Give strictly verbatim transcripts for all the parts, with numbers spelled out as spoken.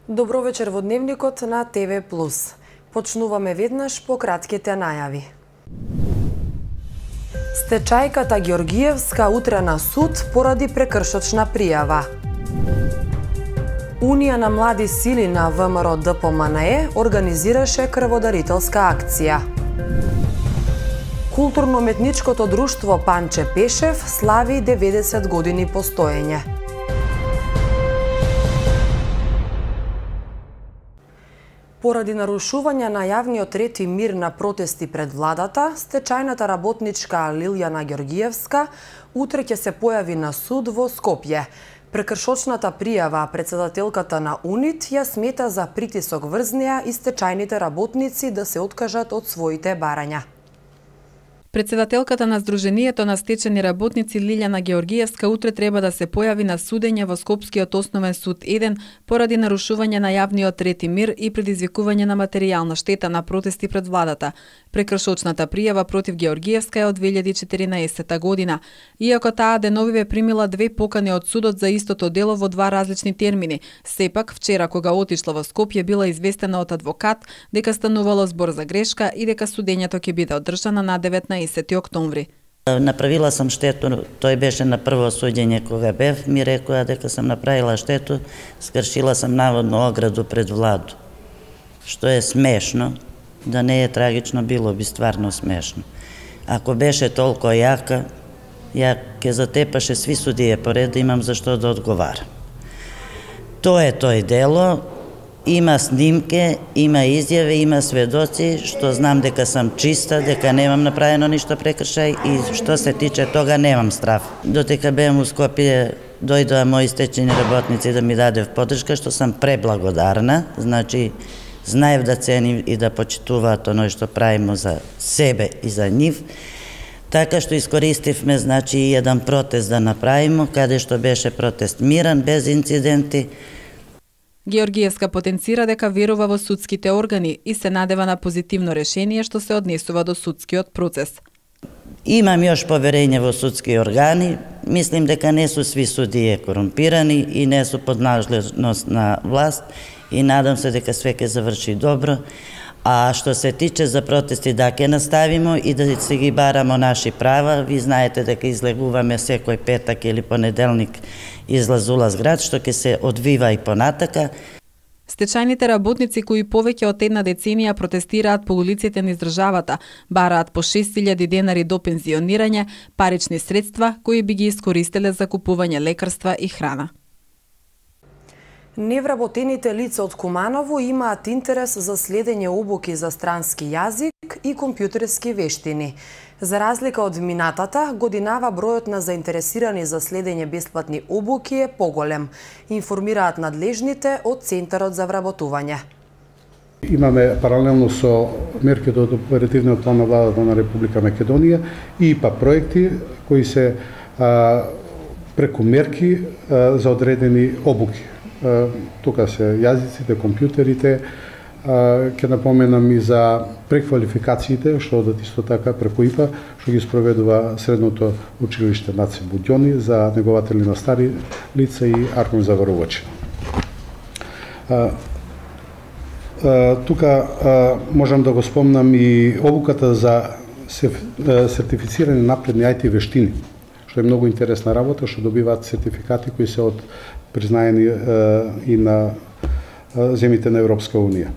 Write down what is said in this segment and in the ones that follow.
Добро вечер во Дневникот на ТВ Плюс. Почнуваме веднаш по кратките најави. Стечајката Георгиевска утре на суд поради прекршочна пријава. Унија на млади сили на ВМРО Д П М Н Е организираше крводарителска акција. Културно-уметничкото друштво Панче Пешев слави деветдесет години постоење. Поради нарушување на јавниот ред и мир на протести пред владата, стечајната работничка Лилјана Георгиевска утре ќе се појави на суд во Скопје. Прекршочната пријава претседателката на УНИТ ја смета за притисок врз неа и стечајните работници да се откажат од своите барања. Претседателката на Сдруженијето на стечени работници Лилјана Георгиевска утре треба да се појави на судење во Скопскиот основен суд еден поради нарушување на јавниот ред и мир и предизвикување на материјална штета на протести пред владата. Прекршочната пријава против Георгиевска е од две илјади и четиринаесета година. Иако таа деновиве примила две покани од судот за истото дело во два различни термини, сепак вчера кога отишла во Скопје била известена од адвокат дека станувало збор за грешка и дека судењето ќе биде одржано на деветнаесети октомври. Направила сам штету, тој беше на прво судење кога бев, ми рекоа дека сам направила штету, скршила сам наводно ограду пред владу. Што е смешно, да не е трагично, било би стварно смешно. Ако беше толку јака, ја ке затепаше сви судија поред, да имам за што да одговарам. Тоа е тој дело, има снимке, има изјави, има сведоци, што знам дека сам чиста, дека немам направено ништо прекршај и што се тиче тога немам страф. Дотека беам у Скопје, дојдоа мои стечени работници да ми дадев поддршка, што сам преблагодарна, значи знаев да ценим и да почитуваат оној што правимо за себе и за нив. Така што искористивме, значи, еден протест да направимо, каде што беше протест мирен, без инциденти. Георгиевска потенцира дека верува во судските органи и се надева на позитивно решение што се однесува до судскиот процес. Имам још поверење во судски органи, мислим дека не су сви судии корумпирани и не су под надлежност на власт и надам се дека све ќе заврши добро. А што се тиче за протести, да ќе наставимо и да се ги барамо наши права. Ви знаете дека излегуваме секој петак или понеделник излаз-улаз град, што ќе се одвива и понатака. Стечајните работници кои повеќе од една деценија протестираат по улиците низ државата, бараат по шест илјади денари до пензионирање, парични средства кои би ги искористеле за купување лекарства и храна. Невработените лица од Куманово имаат интерес за следење обуки за странски јазик и компјутерски вештини. За разлика од минатата, годинава бројот на заинтересирани за следење бесплатни обуки е поголем, информираат надлежните од Центарот за вработување. Имаме паралелно со мерките од оперативниот план на владата на Република Македонија и па проекти кои се а, преку мерки а, за одредени обуки. Тука се јазиците, компјутерите, ќе напоменам и за преквалификациите, што одат исто така преку И П А, што ги спроведува средното училиште Наце Будјони за негователи на стари лица и Аркон за варувачи. Тука можам да го спомнам и обуката за сертифицирање напредни ај ти вештини, што е многу интересна работа, што добиваат сертификати кои се од признаени и на земите на Европска Унија.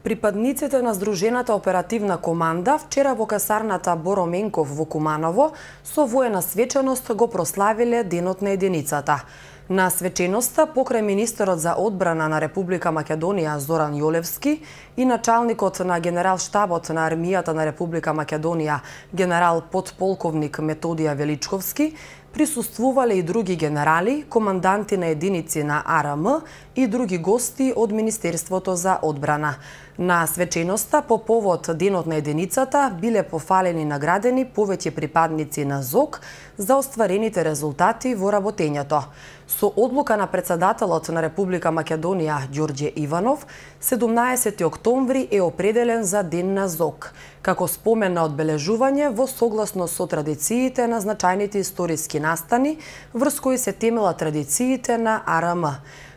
Припадниците на Сдружената оперативна команда вчера во касарната Боро Менков во Куманово со воена свеченост го прославиле Денот на единицата. На свеченоста покрај министерот за одбрана на Република Македонија Зоран Јолевски и началникот на генерал-штабот на армијата на Република Македонија генерал подполковник Методија Величковски присуствувале и други генерали, команданти на единици на А Р М и други гости од Министерството за одбрана. На свеченоста по повод Денот на единицата биле пофалени и наградени повеќе припадници на ЗОК за остварените резултати во работењето. Со одлука на претседателот на Република Македонија Ѓорѓе Иванов, седумнаесети октомври е определен за Ден на ЗОК, како спомен на одбележување во согласно со традициите на значајните историски настани врз кои се темела традициите на А Р М.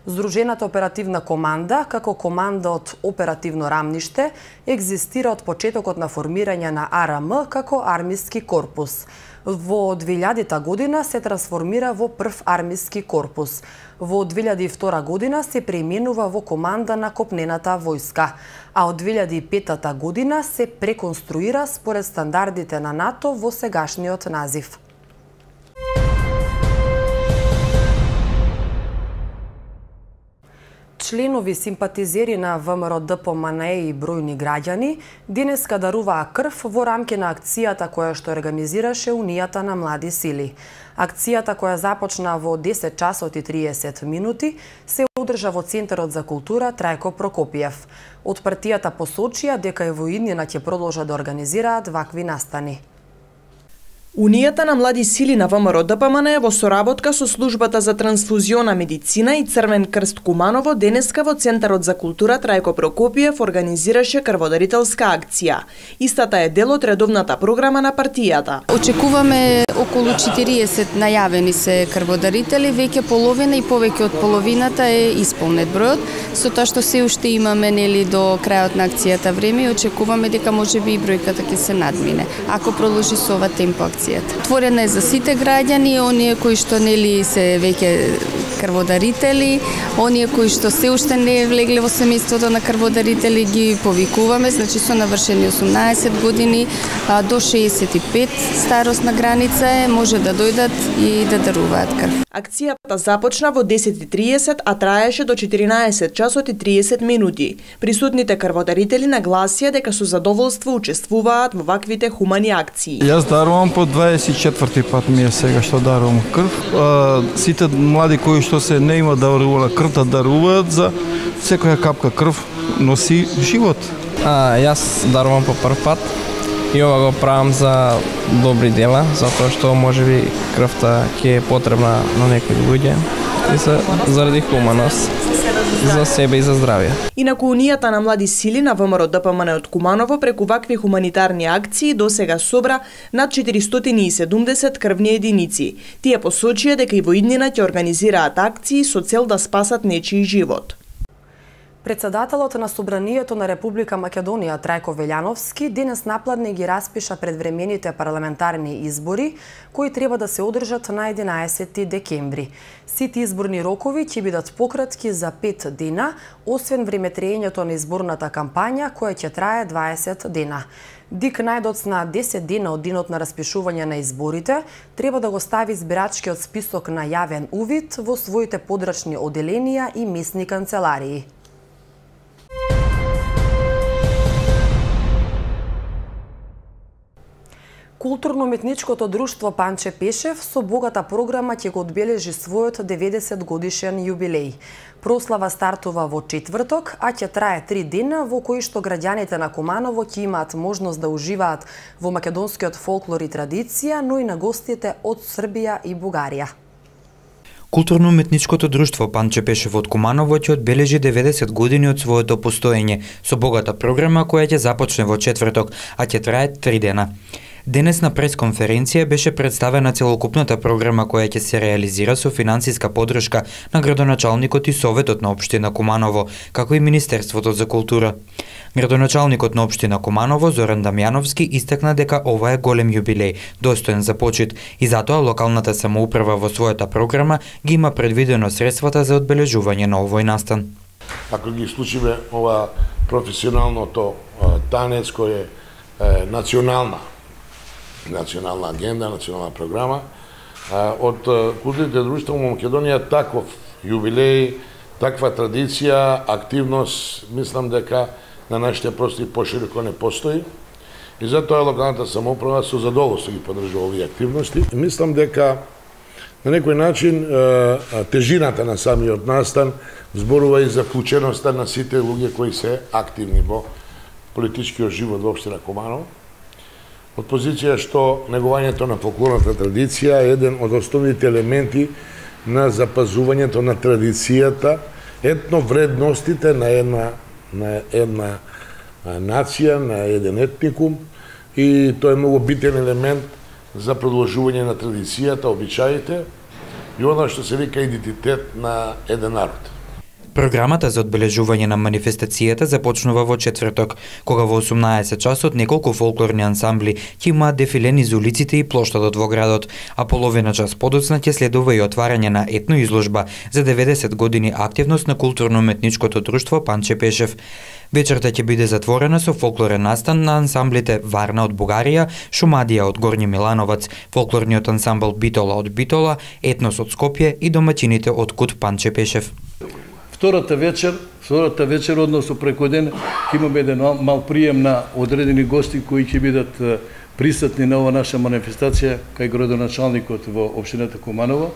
Здружената оперативна команда, како команда од оперативно рамниште, екзистира од почетокот на формирање на А Р М како армиски корпус. Во две илјадета година се трансформира во прв армиски корпус. Во две илјади и втора година се преименува во команда на копнената војска, а од две илјади и петата година се преконструира според стандардите на НАТО во сегашниот назив. Членови симпатизери на В М Р Д П М Н Е и бројни граѓани денеска даруваа крв во рамки на акцијата која што организираше Унијата на млади сили. Акцијата која започна во десет часот и триесет минути се одржа во Центарот за култура Трајко Прокопиев. Од партијата посочија дека и во иднина ќе продолжат да организираат вакви настани. Унијата на млади сили на В М Р Д П М Н Е во соработка со Службата за трансфузиона медицина и Црвен крст Куманово денеска во Центарот за култура Трајко Прокопиев организираше крводарителска акција. Истата е дел од редовната програма на партијата. Очекуваме околу четириесет најавени се крводарители, веќе половина и повеќе од половината е исполнет бројот, со тоа што се уште имаме нели до крајот на акцијата време и очекуваме дека можеби и бројката ќе се надмине, ако продолжи со ова темпо акцијата. Отворена е за сите граѓани, оние кои што нели се веќе крводарители, оние кои што се уште не влегле во семејството на крводарители ги повикуваме, значи со навршени осумнаесет години а, до шеесет и пет старосна граница е, може да дојдат и да даруваат крв. Акцијата започна во десет и триесет, а траеше до четиринаесет часот и триесет минути. Присутните крводарители нагласија дека со задоволство учествуваат во ваквите хумани акции. Јас дарувам по дваесет и четврти пат ми е сега што дарувам крв. А, сите млади кои што се не има дарувала крв да даруваат, за секоја капка крв носи живот. А, јас дарувам по прв пат и ова го правам за добри дела, затоа што можеби крвта ќе е потребна на некои луѓе и за, заради хуманост, за себе и за здравје. Инаку Унијата на млади сили на В М Р Д П М Н Е од Куманово преку вакви хуманитарни акции досега собра над четиристотини и седумдесет крвни единици. Тие посочија дека и во иднина ќе организираат акции со цел да спасат нечiji живот. Председателот на Собранието на Република Македонија Трајко Велјановски денес напладне ги распиша предвремените парламентарни избори кои треба да се одржат на единаесети декември. Сите изборни рокови ќе бидат пократки за пет дена, освен времетрењето на изборната кампања која ќе трае дваесет дена. Дик најдоц на десет дена од денот на распишување на изборите треба да го стави избирачкиот список на јавен увид во своите подрачни оделенија и местни канцеларии. Културно-уметничкото друштво Панче Пешев со богата програма ќе го одбележи својот деветдесет годишен јубилеј. Прослава стартува во четврток, а ќе трае три дена во кои што граѓаните на Куманово ќе имаат можност да уживаат во македонскиот фолклор и традиција, но и на гостите од Србија и Бугарија. Културно-уметничкото друштво Панче Пешев од Куманово ќе одбележи деветдесет години од своето постоење со богата програма која ќе започне во четврток, а ќе трае три дена. Денес на пресконференција беше представена целокупната програма која ќе се реализира со финансиска поддршка на градоначалникот и Советот на општина Куманово, како и Министерството за култура. Градоначалникот на општина Куманово Зоран Дамјановски истакна дека ова е голем јубилеј, достоен за почит, и затоа локалната самоуправа во својата програма ги има предвидено средствата за одбележување на овој настан. Ако ги случиме ова професионалното танец кој е национална национална агенда, национална програма, од културните друштва во Македонија таков јубилеј, таква традиција, активност, мислам дека на нашите простори пошироко не постои. И затоа локалната самоуправа со задоволство ги поддржува овие активности. И мислам дека на некој начин тежината на самиот настан зборува и за вклученоста на сите луѓе кои се активни во политичкиот живот во општина Куманово. Од позиција што негувањето на фолклорната традиција е еден од основните елементи на запазувањето на традицијата, етновредностите на една на една нација, на еден етникум, и тоа е многу битен елемент за продолжување на традицијата, обичаите и оно што се вика идентитет на еден народ. Програмата за одбележување на манифестацијата започнува во четврток, кога во осумнаесет часот неколку фолклорни ансамбли ќе имаат дефиле низ улиците и плоштадот во градот, а половина час подоцна ќе следува и отварање на етно изложба за деветдесет години активност на културно-уметничкото друштво Панче Пешев. Вечерта ќе биде затворена со фолклорен настан на ансамблите Варна од Бугарија, Шумадија од Горњи Милановац, фолклорниот ансамбл Битола од Битола, Етнос од Скопје и домаќините од Кут Панче Пешев. Втората вечер, втората вечер, односно преку ден, ќе имаме еден мал прием на одредени гости кои ќе бидат присутни на ова наша манифестација кај градоначалникот во општината Куманово,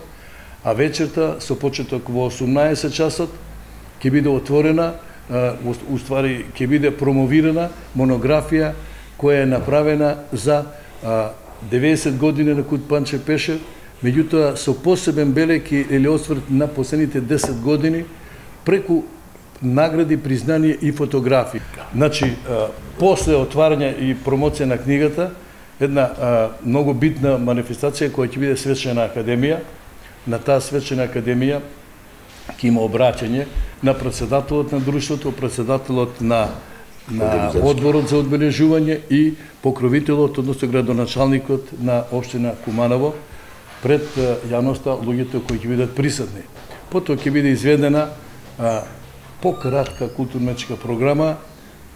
а вечерта со почеток во осумнаесет часот ќе биде отворена, уствари ќе биде промовирана монографија која е направена за деветдесет години на Кут Панче Пешев, меѓутоа со посебен белег или осврт на последните десет години преку награди, признание и фотографии. Значи, после отварање и промоција на книгата, една многу битна манифестација која ќе биде свечена академија. На таа свечена академија ќе има обраќање на претседателот на друштвото, претседателот на на одборот за одбележување и покровителот, односно градоначалникот на општина Куманово пред јавноста, луѓето кои ќе бидат присутни. Потоа ќе биде изведена пократка културно-уметничка програма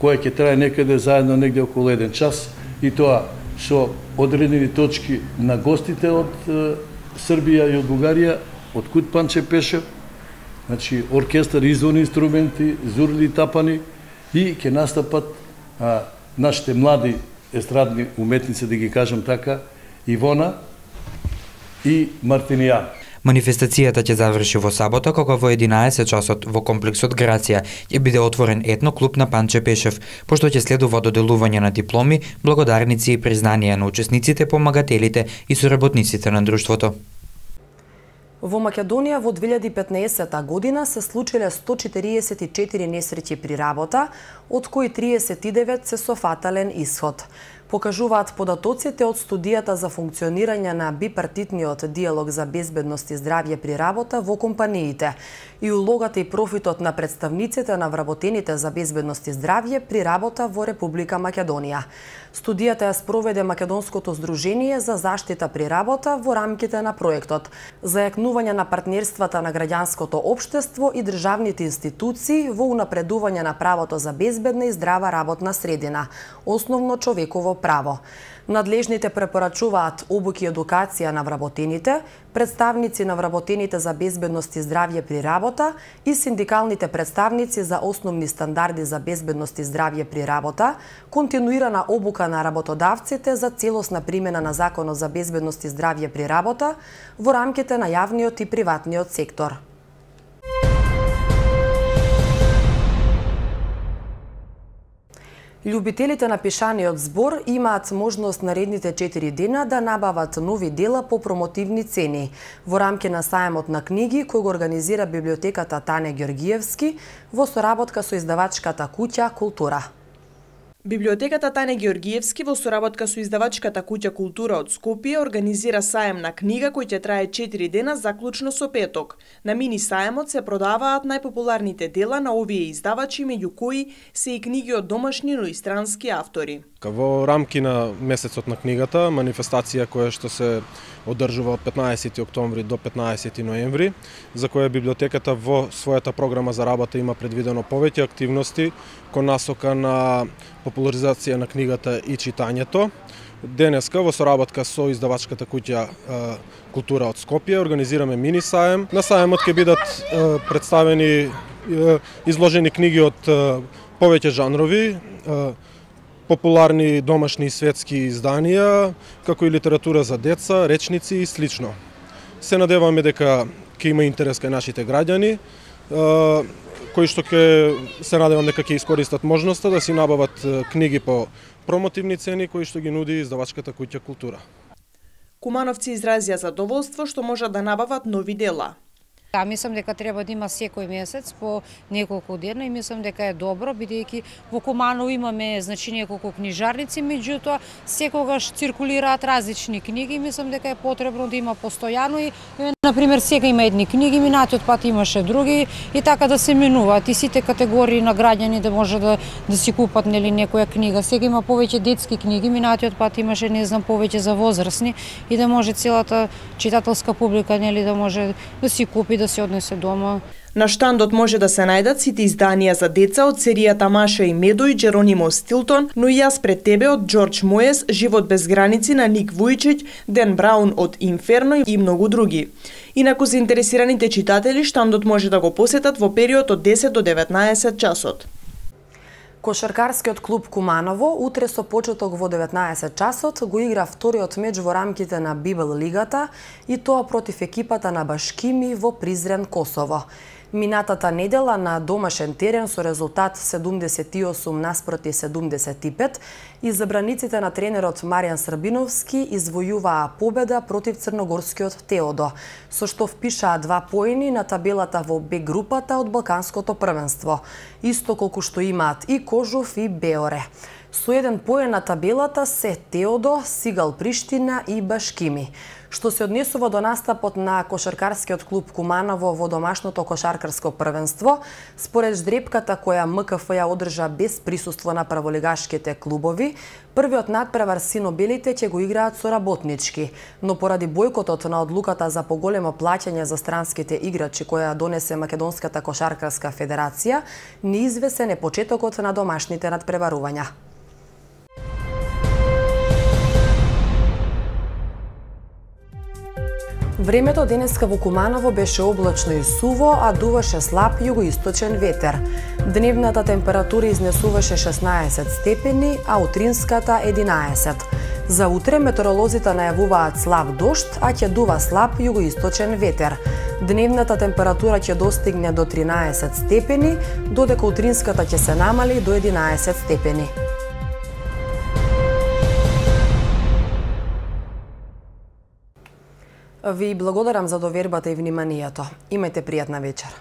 која ќе трае некаде заедно негде околу еден час и тоа со одредени точки на гостите од Србија и од Бугарија, од Кут Панче Пешев, значи оркестар, изворни инструменти, зурли, тапани и ќе настапат а, нашите млади естрадни уметници, да ги кажам така, Ивона и Мартинијан. Манифестацијата ќе заврши во сабота, кога во единаесет часот во комплексот Грација ќе биде отворен етно клуб на Панче Пешев, пошто ќе следува доделување на дипломи, благодарници и признанија на учесниците, помагателите и соработниците на друштвото. Во Македонија во две илјади и петнаесета година се случиле сто четириесет и четири несреќи при работа, од кои триесет и девет се со фатален исход. Покажуваат податоците од студијата за функционирање на бипартитниот диалог за безбедност и здравје при работа во компаниите и улогата и профитот на представниците на вработените за безбедност и здравје при работа во Република Македонија. Студијата ја спроведе Македонското здружение за заштита при работа во рамките на проектот за јакнување на партнерствата на граѓанското општество и државните институции во унапредување на правото за безбедна и здрава работна средина, основно човеково право. Надлежните препорачуваат обуки и едукација на вработените, представници на вработените за безбедност и здравје при работа и синдикалните представници за основни стандарди за безбедност и здравје при работа, континуирана обука на работодавците за целосна примена на Законот за безбедност и здравје при работа во рамките на јавниот и приватниот сектор. Љубителите на пешаниот збор имаат можност наредните четири дена да набават нови дела по промотивни цени во рамки на сајмот на книги кој го организира библиотеката Тане Ѓоргиевски во соработка со издавачката куќа Култура. Библиотеката Тане Ѓоргиевски во соработка со издавачката куќа Култура од Скопје организира сајм на книга кој ќе трае четири дена заклучно со петок. На мини сајмот се продаваат најпопуларните дела на овие издавачи, меѓу кои се и книги од домашни, но и странски автори. Во рамки на месецот на книгата, манифестација која што се одржува од петнаесети октомври до петнаесети ноември, за која библиотеката во својата програма за работа има предвидено повеќе активности кон насока на популаризација на книгата и читањето. Денеска во соработка со издавачката куќа Култура од Скопје организираме мини саем. На саемот ќе бидат представени изложени книги од повеќе жанрови, популарни домашни и светски изданија, како и литература за деца, речници и слично. Се надеваме дека ќе има интерес кај нашите граѓани, кои што ќе се надевам дека ќе искористат можноста да си набават книги по промотивни цени кои што ги нуди издавачката куќа Култура. Кумановци изразија задоволство што можат да набават нови дела. А мислам дека треба да има секој месец по неколку дена и мислам дека е добро, бидејќи во Куманово имаме значи неколку книжарници, меѓутоа секогаш циркулираат различни книги и мислам дека е потребно да има постојано и на пример сега има едни книги, минатиот пат имаше други и така да се менуваат и сите категории на граѓани да може да да си купат нели некоја книга. Сега има повеќе детски книги, минатиот пат имаше не знам повеќе за возрастни и да може целата читателска публика нели да може да си купи, да се однесе дома. На штандот може да се најдат сите изданија за деца од серијата Маша и Медо и Джеронимо Стилтон, но и Јас пред тебе од Џорџ Моес, Живот без граници на Ник Вујчиќ, Ден Браун од Инферно и многу други. Инаку заинтересираните читатели штандот може да го посетат во период од десет до деветнаесет часот. Кошаркарскиот клуб Куманово утре со почеток во деветнаесет часот го игра вториот меч во рамките на Бибел лигата и тоа против екипата на Башкими во Призрен, Косово. Минатата недела на домашен терен со резултат седумдесет и осум наспроти седумдесет и пет, избраниците на тренерот Маријан Србиновски извојуваа победа против црногорскиот Теодо, со што впишаа два поени на табелата во Б групата од Балканското првенство, исто колку што имаат и Кожув и Беоре. Со еден поен на табелата се Теодо, Сигал Приштина и Башкими. Што се однесува до настапот на кошаркарскиот клуб Куманово во домашното кошаркарско првенство, според ждрепката која М К Ф ја одржа без присуство на праволигашките клубови, првиот надпревар сино-белите ќе го играат со работнички, но поради бојкотот на одлуката за поголемо плаќање за странските играчи која донесе Македонската кошаркарска федерација, неизвесен е почетокот на домашните надпреварувања. Времето денеска во Куманово беше облачно и суво, а дуваше слаб југоисточен ветер. Дневната температура изнесуваше шеснаесет степени, а утринската единаесет. За утре метеоролозите најавуваат слаб дожд, а ќе дува слаб југоисточен ветер. Дневната температура ќе достигне до тринаесет степени, додека утринската ќе се намали до единаесет степени. Ви благодарам за довербата и вниманието. Имајте пријатна вечер.